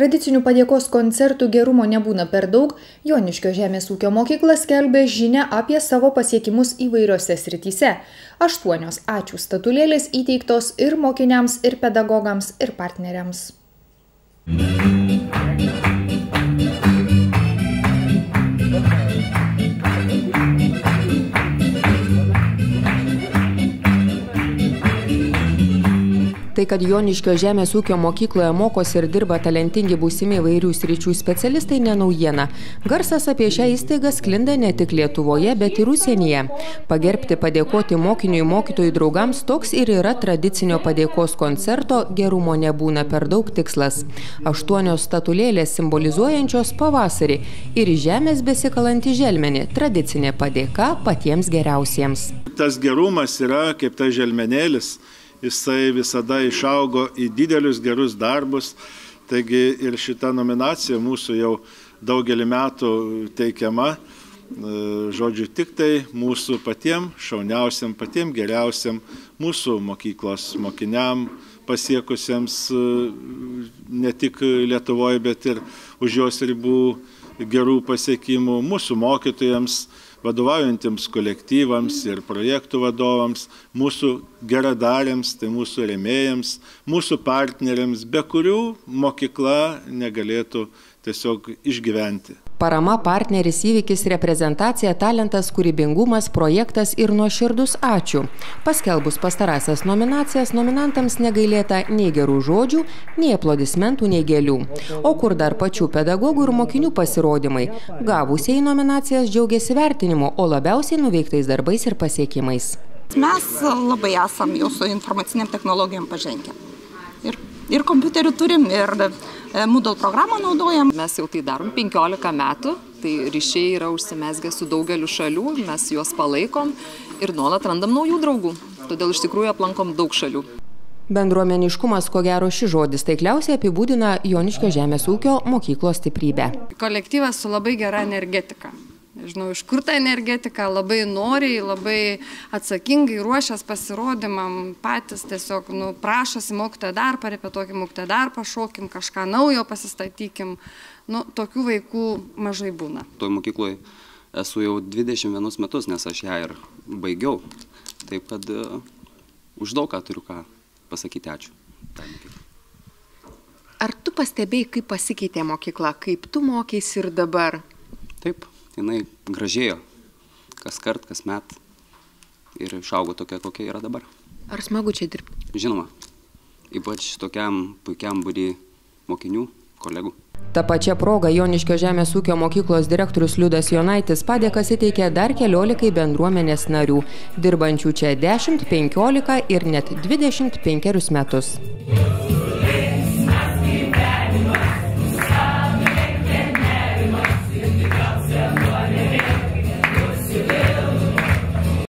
Tradicinių padėkos koncertų gerumo nebūna per daug, Joniškio žemės ūkio mokykla skelbia žinią apie savo pasiekimus įvairiose srityse. 8 ačiū statulėlės įteiktos ir mokiniams, ir pedagogams, ir partneriams. Tai, kad Joniškio žemės ūkio mokykloje mokosi ir dirba talentingi būsimi įvairių sričių specialistai, ne naujiena. Garsas apie šią įstaigą sklinda ne tik Lietuvoje, bet ir užsienyje. Pagerbti, padėkoti mokiniui, mokytojų draugams toks ir yra tradicinio padėkos koncerto gerumo nebūna per daug tikslas. 8 statulėlės simbolizuojančios pavasarį ir žemės besikalantį želmenį, tradicinė padėka patiems geriausiems. Tas gerumas yra kaip tas želmenėlis. Jisai visada išaugo į didelius gerus darbus, taigi ir šita nominacija mūsų jau daugelį metų teikiama, žodžiu, tik tai mūsų patiem šauniausiam, patiem geriausiam, mūsų mokyklos mokiniam pasiekusiems ne tik Lietuvoje, bet ir už jos ribų gerų pasiekimų, mūsų mokytojams, vadovaujantiems kolektyvams ir projektų vadovams, mūsų geradariams, tai mūsų rėmėjams, mūsų partneriams, be kurių mokykla negalėtų tiesiog išgyventi. Parama, partneris, įvykis, reprezentacija, talentas, kūrybingumas, projektas ir nuoširdus ačiū. Paskelbus pastarąsias nominacijas, nominantams negailėta nei gerų žodžių, nei aplodismentų, nei gėlių. O kur dar pačių pedagogų ir mokinių pasirodymai. Gavusiai nominacijas džiaugiasi vertinimu, o labiausiai nuveiktais darbais ir pasiekimais. Mes labai esam jau su informaciniam technologijom pažengę. Ir kompiuterių turim, ir Moodle programą naudojam. Mes jau tai darom 15 metų, tai ryšiai yra užsimezgę su daugeliu šalių, mes juos palaikom ir nuolat randam naujų draugų. Todėl iš tikrųjų aplankom daug šalių. Bendruomeniškumas, ko gero, šis žodis taikliausiai apibūdina Joniškio žemės ūkio mokyklos stiprybę. Kolektyvas su labai gera energetika. Žinau, iš kur ta energetika, labai noriai, labai atsakingai ruošias pasirodymam, patys tiesiog prašosi mokytoją dar, parepetuokim mokytoją dar, pašokim, kažką naujo pasistatykim. Tokių vaikų mažai būna. Toj mokykloje esu jau 21 metus, nes aš ją ir baigiau. Taip kad už daug ką turiu ką pasakyti ačiū. Ar tu pastebėjai, kaip pasikeitė mokykla, kaip tu mokeisi ir dabar? Taip. Jinai gražėjo kas kart, kas met ir išaugo tokia, kokia yra dabar. Ar smagu čia dirbti? Žinoma, ypač tokiam puikiam būry mokinių, kolegų. Ta pačia proga Joniškio žemės ūkio mokyklos direktorius Liudas Jonaitis padėkas įteikė dar 14 bendruomenės narių, dirbančių čia 10, 15 ir net 25 metus.